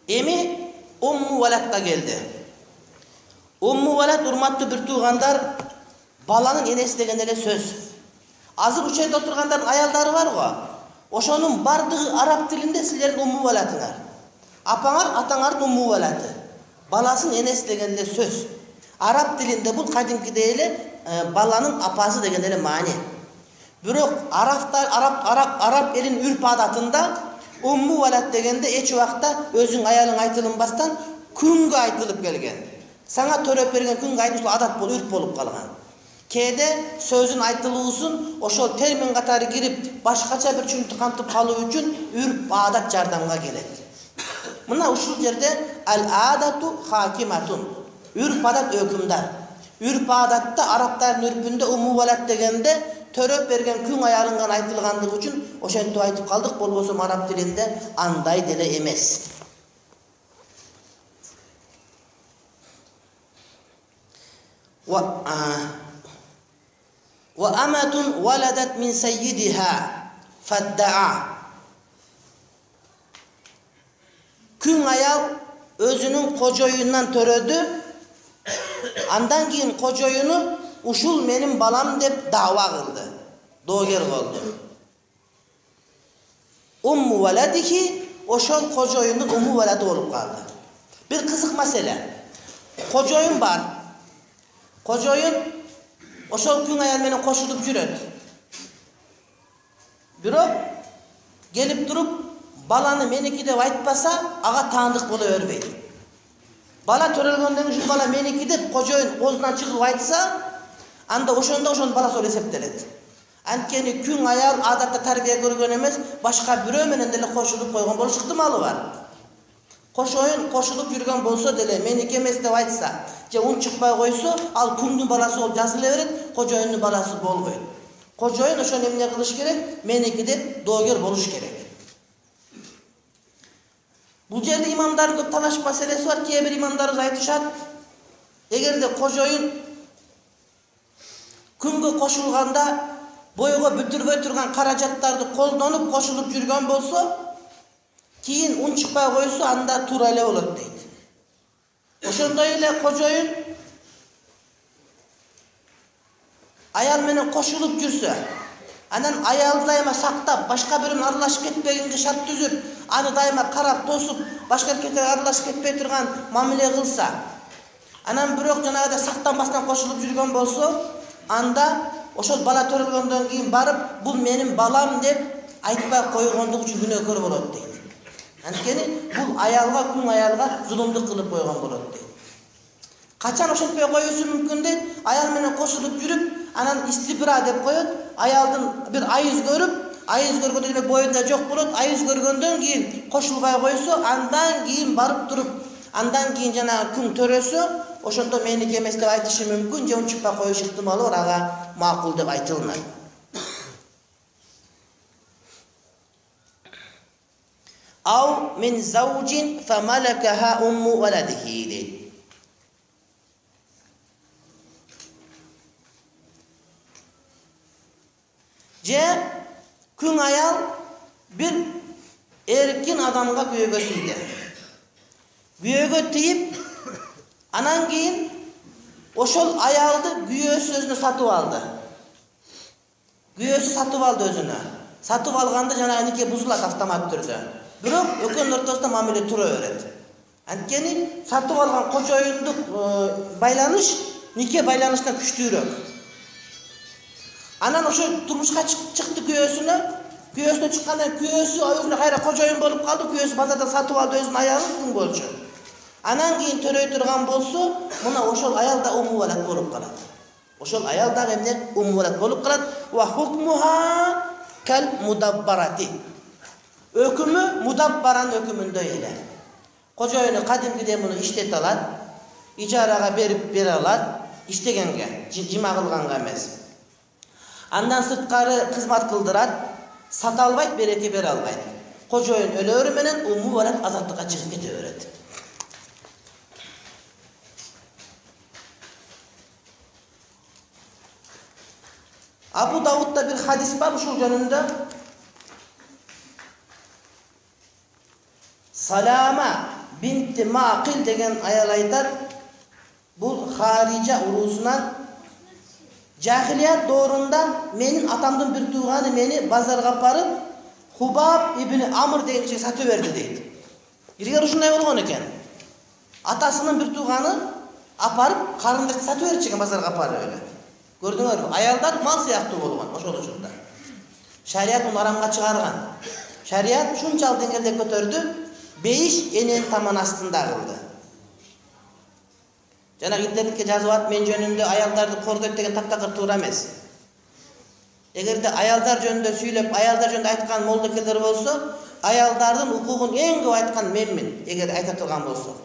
Эми Умму Валадка келди. Умму Валад, урматтуу бир туугандар, баланын энеси деген эле сөз. Азыр учайда отургандардын аялдары бар го. Ошонун бардыгы араб тилинде силердин Умму Валадыңар. Апаңар, атаңардын Умму Валады. Баласын энеси деген эле сөз. Араб тилинде бул кадимкидей эле баланын апасы деген эле маани. Бирок арабтар, араб араб араб элин үрп адатында Умму Валад дегенде эч убакта өзүң аялың айтылынбастан күнгө айтылып келген. Саңа төрөп берген күнгө айтылуу адат болуп, үрп болуп калган. Кээде сөзүн айтылуусун ошол термин катары кирип, башкача бир чүнүктү кантып калуу үчүн үрп адат жардамга келет. Мына ушул жерде ал-адату хакиматун. Үрп адат өкүмдар. Үрп адатта арабтардын үрпүндө Умму Валад дегенде төрөп берген күң аялынган айтылгандыгы үчүн ошентип айтып калдык, болбосо араб тилинде андай деле эмес. Wa wa amatun waladat min sayyidiha fadda'a. Күң аял өзүнүн кожоюнан төрөдү. Андан кийин кожоюну ушул менин балам деп дава кылды. Доогер болду. Умму Валадихи ошол кожоюндун Умму Валады болуп калды. Бир кызык маселе. Кожоюн бар. Кожоюн ошол күң аял менен кошулуп жүрөт. Бирок келип туруп баланы меники деп айтпаса, ага таандык боло бербейт. Бала төрөлгөндөн кийин бала меники деп кожоюн оозунан чыгып айтса, анда ошондо ошонун баласы болуп эсептелет. Анткени күң аял адатта тарбия көргөн эмес, башка бирөө менен деле кошулуп койгон болуш ыктымалы бар. Кошоюн кошулуп жүргөн болсо деле меники эмес деп айтса, же ун чыкпай койсо, ал күңдүн баласы болуп жазыла берет, кожоюндун баласы болбойт. Кожоюн ошону эмне кылыш керек? Меники деп доогер болуш керек. Бул жерде имамдардын көп талаш маселеси бар. Кээ бир имамдарыбыз айтышат, эгерде кожоюн күнгө кошулганда бойго бүтүрбөй турган каражаттарды колдонуп кошулуп жүргөн болсо, кийин ун чыкпай койсо, анда туура эле болот дейт. Ошондой эле кожоюн аял менен кошулуп жүрсө, анан аялды дайыма сактап, башка бирөөнүн аралашып кетпегенге шарт түзүп, аны дайыма карап, тосуп, башка эркектерге аралашып кетпей турган мамиле кылса, анан бирок жанагыда сактанбастан кошулуп жүргөн болсо, анда ошол бала төрөлгөндөн кийин барып, бул менин балам деп айтпай койгондук үчүн күнөөкөр болот дейт. Анткени бул аялга, күң аялга зулумдук кылып койгон болот дейт. Качан ошентпей коюусу мүмкүн дейт? Аял менен кошулуп жүрүп, анан истибра деп коет. Аялдын бир айыз көрүп, айыз көргөндө демек боюнда жок болот. Айыз көргөндөн кийин кошулбай койсо, андан кийин барып туруп, андан кийин жана күн төрөсө, ошондо меники эмес деп айтышы мүмкүн, же унчукпай коюш ыктымалы бар, ага макул деп айтылат. Ау мин заужин фамалакаха умму валадихи. Же күн аял бир эркин адамга күйөөгө тийди. Күйөөгө тийип, анан кийин ошол аялды күйөөсү өзүнө сатып алды. Күйөөсү сатып алды өзүнө. Сатып алганда жанагы нике бузулат автомат түрдө. Бирок экөөнүн ортосунда мамиле тура берет. Анткени сатып алган кожоюндук байланыш нике байланышынан күчтүүрөөк. Анан ошо турмушка чыкты күйөөсүнө, күйөөсүнө чыкканда күйөөсү өзүнө кайра кожоюн болуп калды, күйөөсү базардан сатып алды өзүнүн аялын күн болчу. Анан кийин төрөй турган болсо, мына ошол аял да уму валат болуп калат. Ошол аял да эмне уму валат болуп калат. Ва хукмуха кал мудаббарати. Өкүмү мудаббаран өкүмүндөй эле. Кожоюну кадимкидей муну иштете алат, ижарага берип бере алат, иштегенге, жыма кылганга эмес. Андан сырткары кызмат кылдырат, сата албайт, береке бере албайт. Кожоюн өлөөрү менен уму валат азаттыкка чыгып кете берет. Абу Давудда бир хадис бар ушул жөнүндө. Салама бинти Мақил деген аял айтат. Бул Харижа урусунан жахилият доорунда менин атамдын бир тууганы мени базарга апарып, Хубаб ибн Амр деген кишиге сатып берди дейт. Илгери ушундай болгон экен. Атасынын бир тууганы апарып, карындашты сатып берчү экен базарга апарып эле. Көрдүңөрбү? Аялдар мал сыяктуу болгон ошол учурда. Шарият муну арамга чыгарган. Шарият ушунчалык деңгээлде көтөрдү, бейиш энен таман астында кылды. Жана интернетке жазып ат мен жөнүндө аялдарды кордойт деген таптакыр туура эмес. Эгерде аялдар жөнүндө сүйлөп, аялдар жөнүндө айткан молдокелер болсо, аялдардын укугун эң көп айткан менмин, эгер айта турган болсо.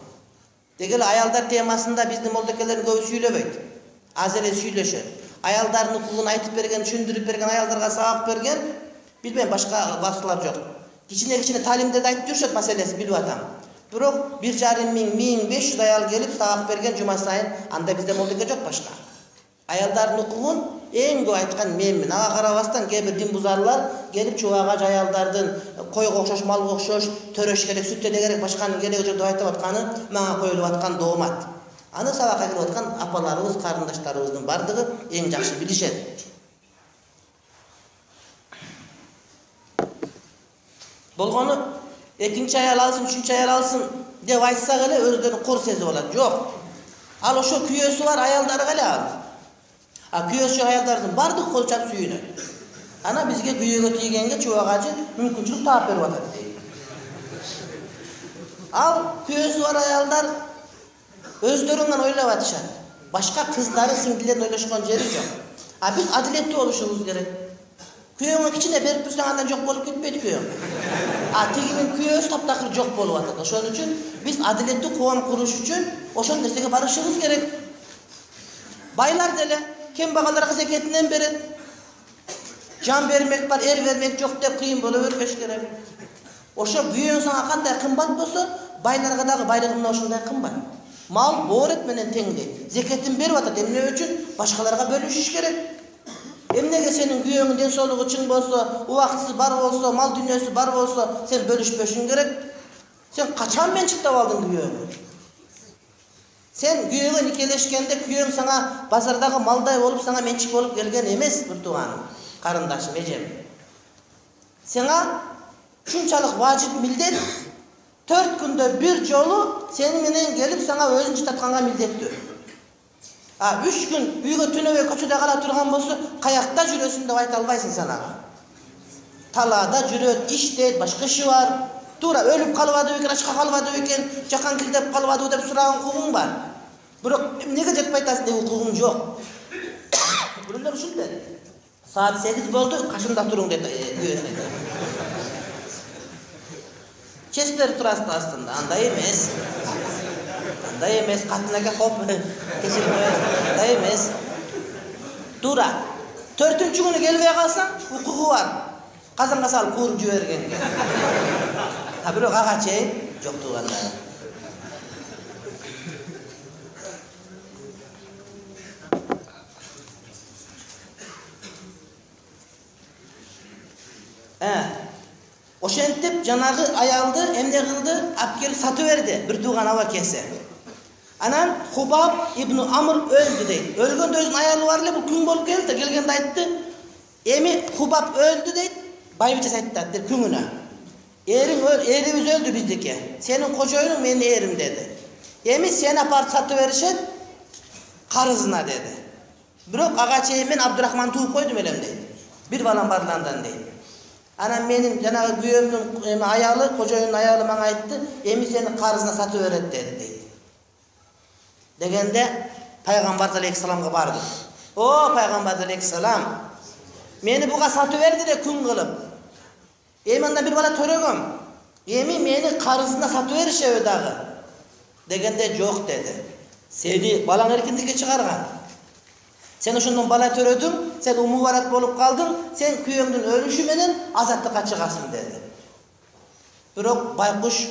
Дегеле аялдар темасында биздин молдокелердин көбү сүйлөбөйт. Аз эле сүйлөшөт. Аялдардын укугун айтып берген, түшүндүрүп берген, аялдарга сабак берген, билбейм, башка башкалар жок. Кичине-кичине талимдерди айтып жүрүшөт, маселеси билип атам. Бирок бир жарым миң, миң беш жүз аял келип сабак берген жума сайын, анда бизде молдоке жок башка. Аялдардын укугун эң көп айткан менмин. Ага карабастан кээ бир дин бузарлар келип чубага аялдардын койго окшош, малга окшош төрөш керек, сүт эле керек, башканын кереги жок деп айтып атканы мага коюлуп аткан доомат. Аны сабакка келип аткан апаларыбыз, карындаштарыбыздын бардыгы эң жакшы билишет. Болгону экинчи аял алсын, үчүнчү аял алсын деп айтсак эле өздөрүн кор сезип алат. Жок. Ал ошо күйөөсү бар аялдары эле ал. А күйөөсү аялдардын бардыгы кол чап сүйүнөт. Ана бизге күйөөгө тийгенге чубагачы мүмкүнчүлүк таап берип атат дейт. Ал күйөөсү бар аялдар өздөрүнөн ойлоп атышат. Башка кыздары, сиңдилерин ойлошкон жери жок. А биз адилеттүү болушубуз керек. Күйөөңө кичине берип турсаң андан жок болуп кетпейт күйөөң. А тигинин күйөөсү таптакыр жок болуп атат. Ошон үчүн биз адилеттүү коом куруш үчүн ошол нерсеге барышыбыз керек. Байлар деле кембагалдарга зекетинен берет. Жан бермек бар, эр бермек жок деп кыйын боло бербеш керек. Ошо күйөөң сага кандай кымбат болсо, байларга дагы байлыгы мына ошондой кымбат. Мал боорет менен теңдей. Зекетин берип атат. Эмне үчүн? Башкаларга бөлүшүш керек. Эмнеге сенин күйөөңүн ден соолугу чың болсо, убактысы бар болсо, мал дүнөсү бар болсо, сен бөлүшпөшүң керек? Сен качан менчиктеп алдың күйөөңү? Сен күйөөгө никелешкенде күйөөң сага базардагы малдай болуп, сага менчик болуп келген эмес, бир тууганым, карындашым, эжем. Сага ушунчалык важип милдет төрт күндө бир жолу сени менен келип сага өзүн жытатканга милдеттүү. А үч күн үйгө түнөбөй көчөдө кала турган болсо, каякта жүрөсүң деп айта албайсың санага. Талаада жүрөт, иштейт, башка иши бар. Туура өлүп калбадыбы экен, ачка калбадыбы экен, жакан кирдеп калбадыбы деп сураган укугуң бар. Бирок эмнеге жетпей атасың деп укугуң жок. Biriler uşul dedi. Saat sekiz oldu, kaşımda durun dedi. Kesler turastı aslında, anday emes. Anday emes, katınaka hop, kesilmez, anday emes. Dura. Төртүнчү күнү келбей калсаң, укугу бар. Казанга салып кууруп жибергенге. А бирок ага чейин жок туугандар. Э. Ошентип жанагы аялды эмне кылды? Алып келип сатып берди, бир тууган абакеси. Анан Хубаб ибн Амр öldü дейт. Өлгөндө өзүнүн аялы бар эле, бул күң болуп келди, келгенде айтты. Эми Хубаб öldü дейт. Байбичеси айтты деп күңүнө. Эриң өл, эрибиз өлдү биздики. Сенин кожоюнуң менин эрим деди. Эми сени апарып сатып беришет, карызына деди. Бирок ага чейин мен Абдурахман тууп койдум элем дейт. Бир балам бар андан дейт. Анан менин жанагы күйөөмдүн эми аялы, кожоюнун аялы мага айтты, эми сени карызына сатып берет деди дейт. Дегенде Пайгамбар алейхиссаламга барды. О, Пайгамбар алейхиссалам, мени буга сатып берди эле күн кылып. Эми анда бир бала төрөгөм. Эми мени карызына сатып беришеби дагы? Дегенде жок деди. Сени балаң эркиндикке чыгарган. Сен ошондон бала төрөдүң, сен умуварат болуп калдың, сен күйөөңдүн өлүшү менен азаттыкка чыгасың деди. Бирок байкуш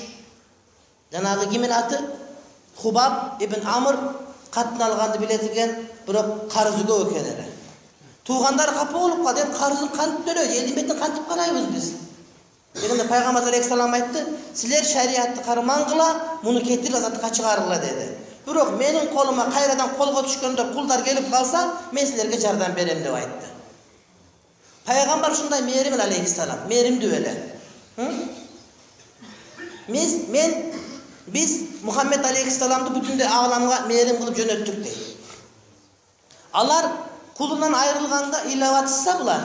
жанагы кимин аты? Хубаб ибн Амр катын алганды билет экен, бирок карызы көп экен эле. Туугандар капа болуп калды, эми карызын кантип төлөйт, элдин бетин кантип карайбыз биз? Дегенде Пайгамбар алейхиссалам айтты, силер шариатты кармангыла, муну кетирип азаттыкка чыгаргыла деди. Бирок менин колума кайрадан колго түшкөндө кулдар келип калса, мен силерге жардам берем деп айтты. Пайгамбар ушундай мээримил алейхиссалам, мээримдүү эле. Мен мен Biz Muhammed Aleyhisselam'dı bütün de ağlamga merim kılıp jönöttük deydi. Alar kulundan ayrılganda ilavatsa bular.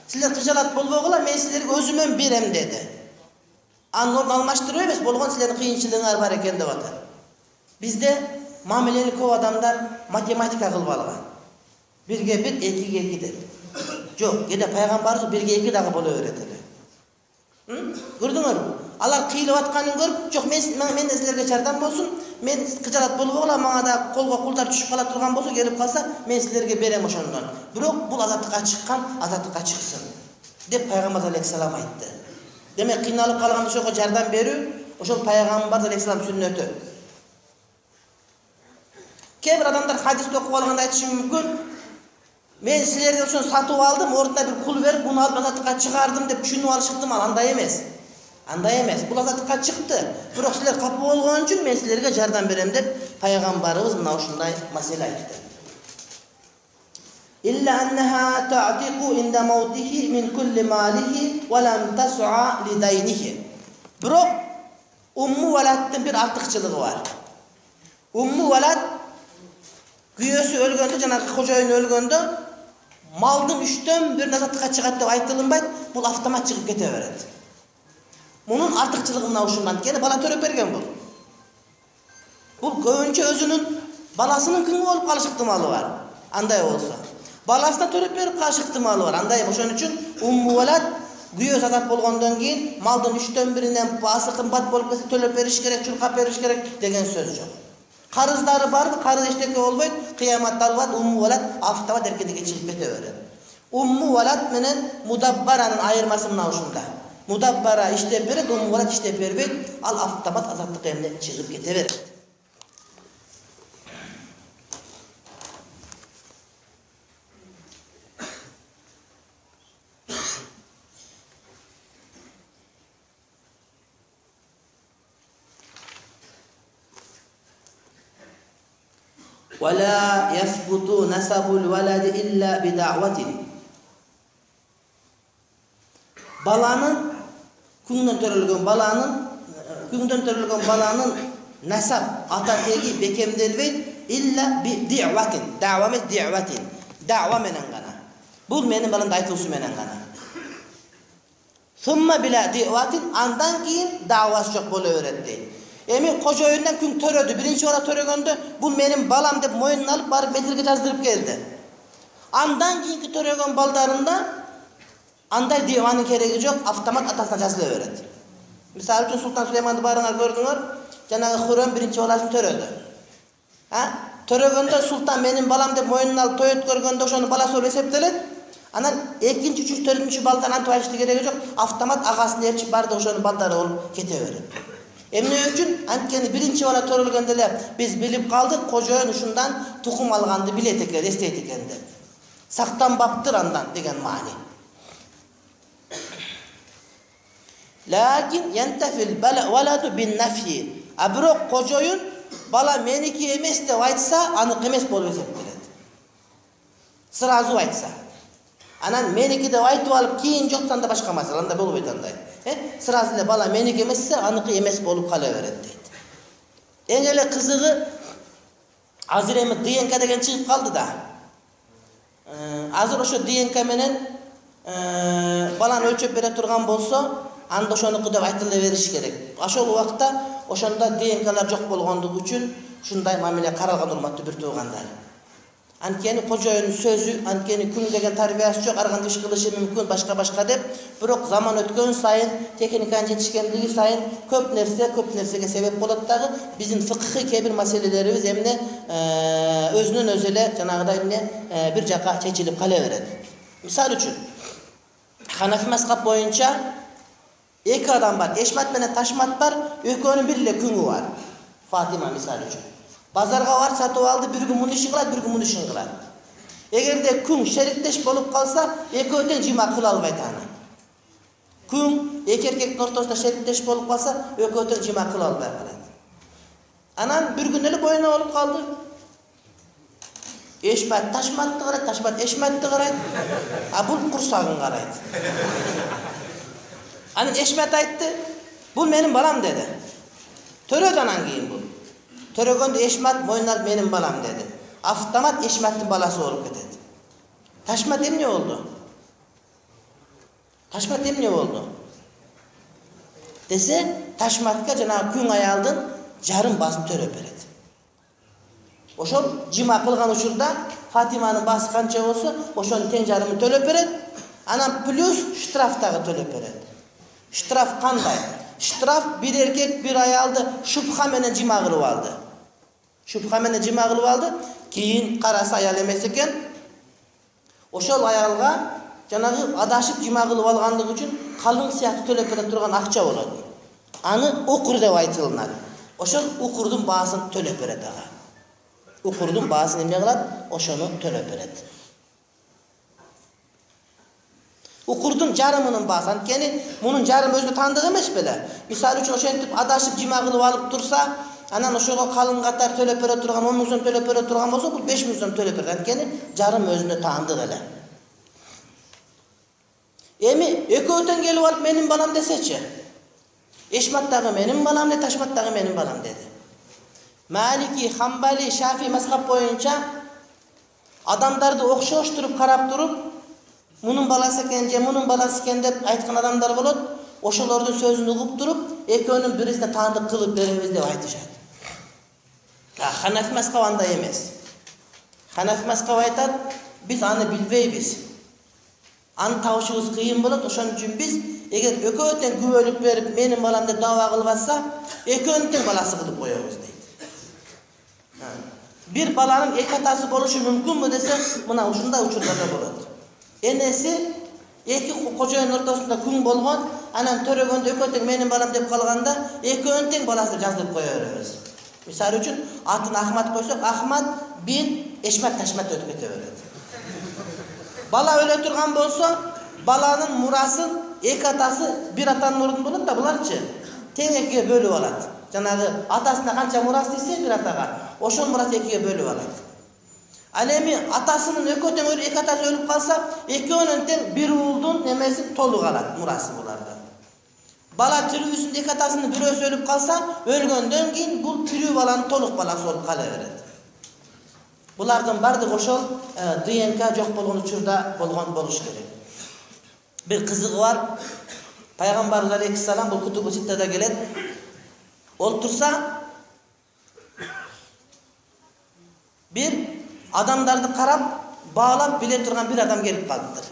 Sizler kıcalat bolbogula men sizlerge özümön berem dedi. Anın orun almaştırıyor emes, bolgon sizlerin kıyınçılığınar var eken dep atar. Bizde muameleni көп adamlar matematika kılıp algan. Birge bir, ekiге iki dep. Jok, kede Peygambarımız birge iki dagı bolu öğreteli. Gördüңөр? Алар кыйылып атканын көрүп, жок мен мен силерге жардам болсун, мен кыжалат болбогула, мага да колго кулдар түшүп кала турган болсо, келип калса, мен силерге берем ошондон. Бирок бул азаттыкка чыккан, азаттыкка чыксын деп Пайгамбар алейхиссалам айтты. Демек кыйналып калган ошого жардам берүү, ошол Пайгамбар алейхиссалам сүннөтү. Кээ бир адамдар хадисти окуп алганда айтышы мүмкүн, мен силерге ошону сатып алдым, ордуна бир кул берип, буну алып азаттыкка чыгардым деп түшүнүп алышыптым, ал андай эмес. Андай эмес. Бул азаттыкка чыкты. Бирок силер капы болгон үчүн мен силерге жардам берем деп Пайгамбарыбыз мына ушундай маселе айтты. Илля аннаха ta'tiqu inda mawtihi min kulli malihi wa lam tas'a li daynihi. Бирок Умму Валаттын бир артыкчылыгы бар. Умму Валат күйөөсү өлгөндө, жанагы кожоюн өлгөндө малдын үчтөн бир азаттыкка чыгат деп айтылынбайт, бул автомат чыгып кете берет. Мунун артыкчылыгы мына ушундан, кene бала төрөп берген бул. Бул көбүнчө өзүнүн баласынын күңү болуп калыш ыктымалы бар. Андай болсо, баласына төрөп берип калыш ыктымалы бар. Андай ошон үчүн Умму Валат күйөөсү азат болгондон кийин малдын үчтөн биринен баасы кымбат болуп кетсе төлөп бериш керек, чуркап бериш керек деген сөз жок. Карыздары барбы, карыз эчтеке болбойт, кыяматта алат Умму Валат автомат эркиндикке чыгып кете берет. Умму Валат менен Мудаббаранын айырмасы мына ушунда. Мудаббара иштеп берет, Умму Валат иштеп бербейт, ал автомат азаттыкка эмне чыгып кете берет. ولا يثبت نسب الولد إلا بدعوة. Баланын күңдөн төрөлгөн баланын күңдөн төрөлгөн баланын насаб ата теги бекемделбейт илля би ди'ватин. Дa'ва эмес ди'ватин. Дa'ва менен гана. Бул менин баламды айтуусу менен гана. Сумма била ди'ватин, андан кийин дa'васы жок боло берет дейт. Эми кожоюндан күң төрөдү, биринчи бала төрөгөндө бул менин балам деп моюнуна алып барып метрге жаздырып келди. Андан кийинки төрөгөн балдарында андай диванын кереги жок, автомат атасына жазыла берет. Мисалы үчүн Султан Сулейманды барыңар көрдүңөр, жанагы Хуррем биринчи баласын төрөдү. А? Төрөгөндө султан менин балам деп мойнуна алып той өткөргөндө ошонун баласы болуп эсептелет. Анан экинчи, үчүнчү, төртүнчү балдан антип айтышты кереги жок, автомат агасын ээрчип барды ошонун балдары болуп кете берет. Эмне үчүн? Анткени биринчи бала төрөлгөндө эле биз билип калдык, кожоюн ушундан тукум алганды билет экен, эстейт экен деп. Сактанбаптыр андан деген маани. Лакин янтафил валаду бин нафи. А бирок кожоюн бала меники эмес деп айтса, анык эмес болуп эсептелет. Сразу айтса. Анан меники деп айтып алып, кийин жоксанда башка маселе, анда болбойт андай. Э? Сразу эле бала меники эмессе, аныкы эмес болуп кала берет дейт. Эң эле кызыгы азыр эми ДНК деген чыгып калды да. Азыр ошо ДНК менен баланы өлчөп бере турган болсо, анда ошонуку деп айтыла бериш керек. Ошол убакта ошондо ДНКлар жок болгондугу үчүн ушундай мамиле каралган, урматтуу бир туугандар. Анткени кожоюнун сөзү, анткени күн деген тарбиясы жок, ар кандай иш кылышы мүмкүн, башка-башка деп, бирок заман өткөн сайын, техниканын жетишкендиги сайын көп нерсе, көп нерсеге себеп болот дагы. Биздин фыкыхый кээ бир маселелерибиз эмне өзүнөн өзү эле жанагыдай эмне бир жака чечилип кала берет. Мисалы үчүн, Ханафи мазхаб боюнча эки адам бар, Эшмат менен Ташмат бар, экөөнүн бир эле күңү бар. Фатима мисалы үчүн. Базарга барып сатып алды, бир күн муну ишин кылат, бир күн муну ишин кылат. Эгерде күң шериктеш болуп калса, экөө тең жыма кыла албайт аны. Күң эки эркектин ортосунда шериктеш болуп калса, экөө тең жыма кыла албай калат. Анан бир күн эле бойуна болуп калды. Эшмат Ташматты карайт, Ташмат Эшматты карайт, а бул курсагын карайт. Анан Эшмат айтты, бул менин балам деди. Төрөдөн анан кийин бул. Төрөгөндө Эшмат мойнуна менин балам деди. Автомат Эшматтын баласы болуп кетет. Ташмат эмне болду? Ташмат эмне болду? Десе, Ташматка жанагы күң аялдын жарым баасын төрөп берет. Ошол жыма кылган учурда Фатиманын баасы канча болсо, ошонун тең жарымын төлөп берет. Анан плюс штраф дагы төлөп берет. Штраф кандай? Штраф бир эркек бир аялды шубха менен жыма кылып алды. Шубха менен жыма кылып алды, кийин караса аял эмес экен. Ошол аялга жанагы адашып жыма кылып алгандыгы үчүн калың сыяктуу төлөп бере турган акча болот. Аны укур деп айтылат. Ошол укурдун баасын төлөп берет ага. Укурдун баасын эмне кылат? Ошону төлөп берет. Укурдун жарымынын баасы, анткени мунун жарымы өзү тандык эмес беле. Мисалы үчүн ошентип адашып жыма кылып алып турса, анан ошого калың катар төлөп бере турган он миң сом төлөп бере турган болсо, бул беш миң сом төлөп берет. Анткени жарым өзүнө тандык эле. Эми экөө тең келип алып менин балам десечи. Эшмат дагы менин балам, Ташмат дагы менин балам деди. Малики, Хамбали, Шафи мазхаб боюнча адамдарды окшоштуруп карап туруп, мунун баласы экен же мунун баласы экен деп айткан адамдар болот. Ошолордун сөзүн угуп туруп, экөөнүн бирисине таандык кылып беребиз деп айтышат. Ханафи мазхабы андай эмес. Ханафи мазхабы айтат, биз аны билбейбиз. Аны табышыбыз кыйын болот, ошон үчүн биз эгер экөө тең күбөлүк берип, менин балам деп даба кылып атса, экөөнүн тең баласы кылып коебуз дейт. Бир баланын эки атасы болушу мүмкүнбү десе, мына ушундай учурларда болот. Энеси эки кожоюн ортосунда күң болгон, анан төрөгөндө экөө тең менин балам деп калганда, экөөнүн тең баласы жаздырып кое беребиз. Мисалы үчүн атын Ахмат койсок, Ахмат бин Эшмат Ташмат өтүп кете берет. Бала өлө турган болсо, баланын мурасын эки атасы бир атанын ордунда болот да, буларчы тең экиге бөлүп алат. Жанагы атасына канча мурас десе бир атага, ошол мурас экиге бөлүп алат. Ал эми атасынын экөө тең эки атасы өлүп калса, экөөнүн тең бир уулдун немеси толук алат, мурасы буларда. Бала тирүүсүндө эки атасынын бирөөсү өлүп калса, өлгөндөн кийин бул тирүү баланын толук баласы болуп кала берет. Булардын бардыгы ошол ДНК жок болгон учурда болгон болуш керек. Бир кызыгы бар. Пайгамбарыбыз алейхиссалам бул Кутубу Ситтада келет. Олтурса бир адамдарды карап, баалап биле турган бир адам келип калыптыр.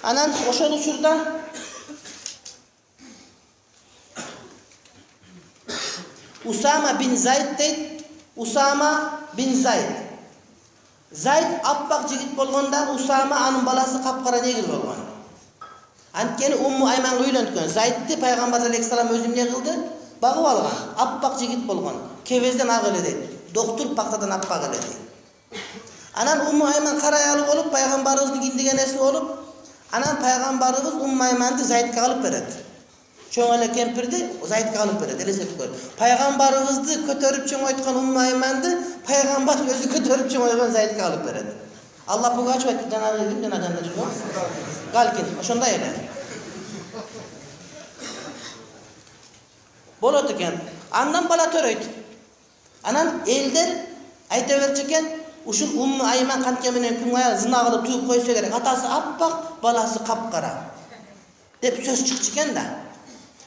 Анан ошол учурда Усама бин Зайд дейт. Усама бин Зайд. Зайд аппак жигит болгонда Усама анын баласы капкара негир болгон. Анткени Умму Айманга үйлөнткөн. Зайдти пайгамбар алейхиссалам өзү эмне кылды? Багып алган. Аппак жигит болгон. Кебезден ак эле дейт. Доктур пактадан аппак эле дейт. Анан Умму Айман кара аялы болуп, пайгамбарыбыздын киндигенеси болуп, анан пайгамбарыбыз Умму Айманды Зайдка алып берет. Чоң эле кемпирди Зайдка алып берет, элестетип. Пайгамбарыбызды көтөрүп чоңойткон Умму Айманды пайгамбар өзү көтөрүп чоңойгон Зайдка алып берет. Алла Пугачева жанагы ким жана жанда жүргөн? Галкин, ошондой эле. Болот экен. Андан бала төрөйт. Анан элдер айта берчү экен, ушул Умму Айман кантке менен күн аял зына кылып тууп койсо керек. Атасы аппак, баласы капкара деп сөз чыкчу экен да.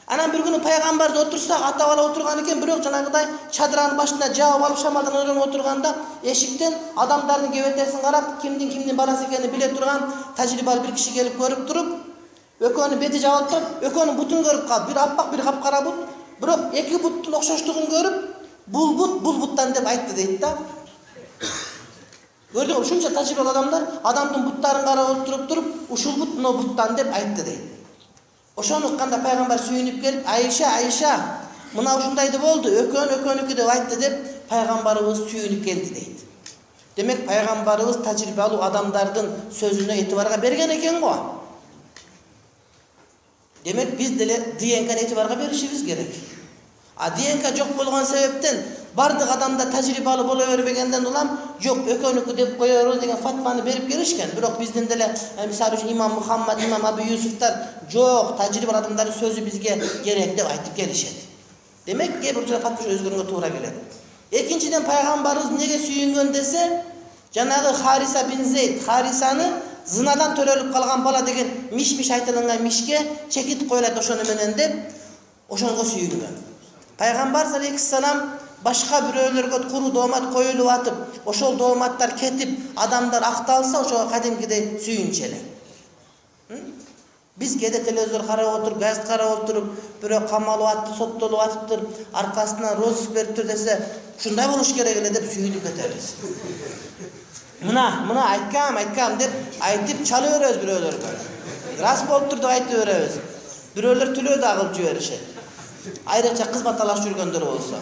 Анан бир күнү пайгамбарды отурса, ата бала отурган экен, бирок жанагыдай чадыранын башына жаап алып шамалдан ойгонуп отурганда, эшиктен адамдардын кебетесин карап, кимдин кимдин баласы экенин биле турган тажрыйбалуу бир киши келип көрүп туруп, экөөнүн бети жабылып туруп, экөөнүн бутун көрүп калып, бир аппак, бир капкара бут, бирок эки буттун окшоштугун көрүп, бул бут бул буттан деп айтты дейт да. Көрдүңбү, ушунча тажрыйбалуу адамдар адамдын буттарын карап туруп туруп, ушул бут мына буттан деп айтты дейт. Ошону укканда пайгамбар сүйүнүп келип, Айша, Айша, мына ушундайды болду, экөөн экөөнүкү деп айтты деп пайгамбарыбыз сүйүнүп келди дейт. Демек пайгамбарыбыз тажрыйбалуу адамдардын сөзүнө этибарга берген экен го. Демек биз деле ДНК этибарга беришибиз керек. А ДНК жок болгон себептен бардык адамда тажрыйбалуу боло бербегенден улам жок экөөнүкү деп коебуз деген фатваны берип келишкен. Бирок биздин деле мисалы үчүн имам Мухаммад, имам Абу Юсуфтар жок тажрыйбалуу адамдардын сөзү бизге керек деп айтып келишет. Демек кээ бир фатва өзгөргөнгө туура келет. Экинчиден пайгамбарыбыз эмнеге сүйүнгөн десе, жанагы Хариса бин Зейд, Харисаны зынадан төрөлүп калган бала деген миш-миш айтылган мишке чекит коюлат ошону менен деп ошонго сүйүнгөн. Пайгамбар алейхиссалам башка бирөөлөргө куру доомат коюлуп атып, ошол дооматтар кетип, адамдар акталса, ошого кадимкидей сүйүнчү эле. Биз кээде телевизор карап отуруп, газет карап отуруп, бирөө камалып атты, соттолуп атыптыр, аркасынан розыск бериптир десе, ушундай болуш керек эле деп сүйүнүп кетебиз. Мына, мына айткам, айткам деп айтып чала беребиз бирөөлөргө. Рас болуптур деп айтып беребиз. Бирөөлөр түлөө да кылып жиберишет. Айрыкча кызмат талашып жүргөндөр болсо.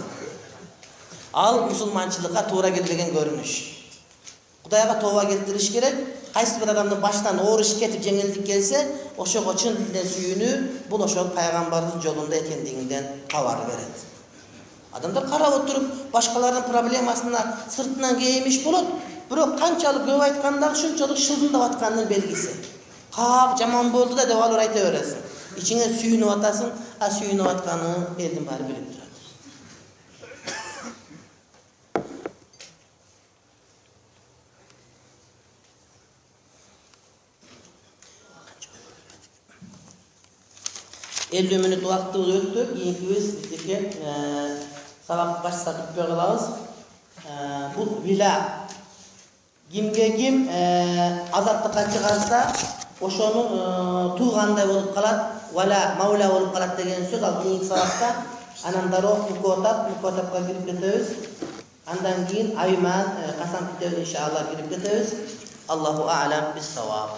Ал мусулманчылыкка туура келбеген көрүнүш. Кудайга тооба келтириш керек. Кайсы бир адамдын башынан оор иш кетип жеңилдик келсе, ошого чын дилден сүйүнүү, бул ошол пайгамбардын жолунда экендигинден кабар берет. Адамдар карап отуруп, башкалардын проблемасына сыртынан кейимиш болот, бирок канчалык көп айтканда ушунчалык шылдыңдап аткандын белгиси. Кап жаман болду да деп алып айта бересиң. Ичиңе сүйүнүп атасың, а сүйүнүп атканы элдин баары билип турат. elүү мүнөт убактыбыз өттү. Кийинкибиз бизге сабак башка бүтпөй калабыз. Бул вила кимге ким азаттыкка чыгарса, ошону туугандай болуп калат, вала маула болуп калат деген сөз. Ал кийинки сабакта анан дароо мукотап, мукотапка кирип кетебиз. Андан кийин айман, касам китебине иншалла кирип кетебиз. Аллаху а'лам бис-саваб.